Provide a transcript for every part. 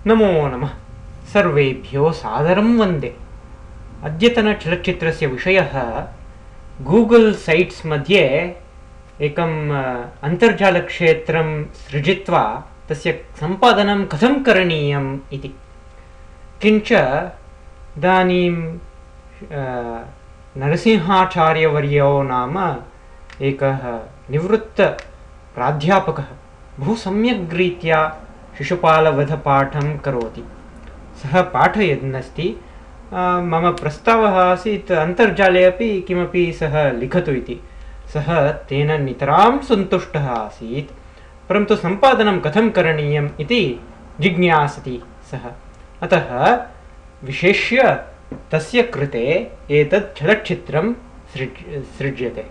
नमो नमः। सर्वेभ्यो सादरं वन्दे। अद्यतनचलच्चित्रस्य विषयः गूगल सैट्स् मध्ये एकम् अन्तर्जालक्षेत्रं सृजित्वा तस्य सम्पादनं कथं करणीयम् इति। किञ्च इदानीं नरसिंहाचार्यवर्यो नाम एकः निवृत्तप्राध्यापकः बहु सम्यक् रीत्या शिशुपालवधपाठं करोति। सः पाठयन्नस्ति। मम प्रस्तावः आसीत् अन्तर्जाले अपि किमपि सः लिखतु इति। सः तेन नितरां सन्तुष्टः आसीत्, परन्तु सम्पादनं कथं करणीयम् इति जिज्ञासति सः। अतः विशेष्य तस्य कृते एतत् चलच्चित्रं सृज्यते।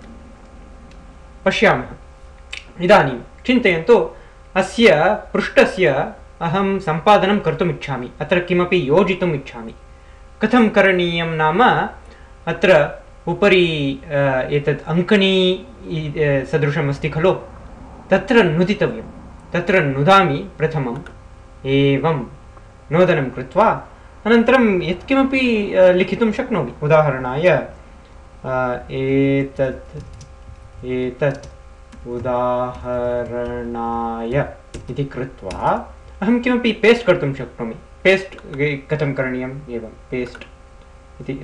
पश्यामः। इदानीं चिन्तयन्तु, अस्य पृष्ठस्य अहं सम्पादनं कर्तुम् इच्छामि, अत्र किमपि योजितुम् इच्छामि। कथं करणीयं नाम, अत्र उपरि एतत् अङ्कनी सदृशमस्ति खलु, तत्र नुदितव्यं। तत्र नुदामि प्रथमम्, एवं नोदनं कृत्वा अनन्तरं यत्किमपि लिखितुं शक्नोमि। उदाहरणाय एतत् उदाहरणाय इति कृत्वा अहं किमपि पेस्ट् कर्तुं शक्नोमि। पेस्ट् कथं करणीयम्, एवं पेस्ट् इति,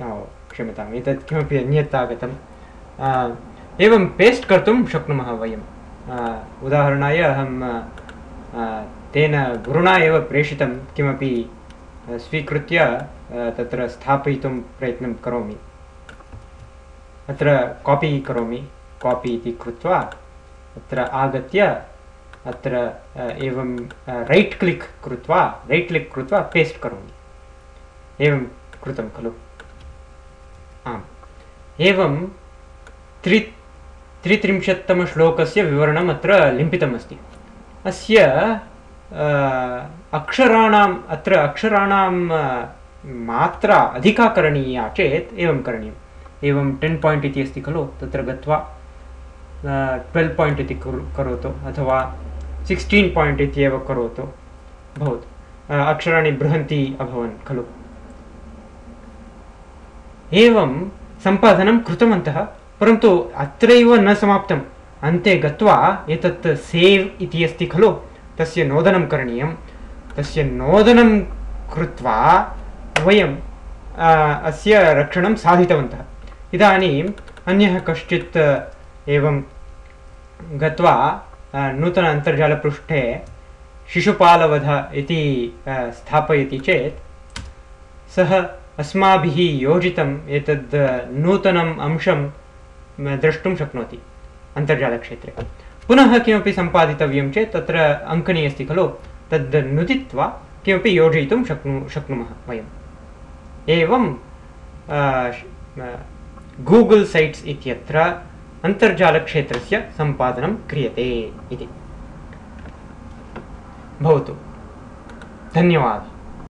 क्षम्यताम्, एतत् किमपि अन्यत् आगतम्। एवं पेस्ट् कर्तुं शक्नुमः वयम्। उदाहरणाय अहं तेन गुरुणा एव प्रेषितं किमपि स्वीकृत्य तत्र स्थापयितुं प्रयत्नं करोमि। अत्र कापी करोमि, कापी इति कृत्वा अत्र आगत्य अत्र एवं रैट् क्लिक् कृत्वा पेस्ट् करोमि। एवं कृतं खलु। आम्, एवं 33तमश्लोकस्य विवरणम् अत्र लिखितमस्ति। अस्य अक्षराणां मात्रा अधिका करणीया चेत् एवं करणीयम्। एवं 10 पॉइंट् इति अस्ति खलु, तत्र गत्वा 12 पॉइंट् इति करोतु, अथवा 16 पॉइंट् इत्येव करोतु, भवतु। अक्षराणि बृहन्ति अभवन् खलु। एवं सम्पादनं कृतवन्तः, परन्तु अत्रैव न समाप्तम्। अन्ते गत्वा एतत् सेव् इति अस्ति खलु, तस्य नोदनं करणीयं। तस्य नोदनं कृत्वा वयं अस्य रक्षणं साधितवन्तः। इदानीम् अन्यः कश्चित् एवं गत्वा नूतन अन्तर्जालपृष्ठे शिशुपालवध इति स्थापयति चेत् सः अस्माभिः योजितम् एतद् नूतनम् अंशं द्रष्टुं शक्नोति अन्तर्जालक्षेत्रे। पुनः किमपि सम्पादितव्यं चेत् तत्र अङ्कनी अस्ति खलु, तद् नुदित्वा किमपि योजयितुं शक्नुमः वयम्। एवं गूगल सैट्स् इत्यत्र अन्तर्जालक्षेत्रस्य सम्पादनं क्रियते इति। भवतु। धन्यवादः।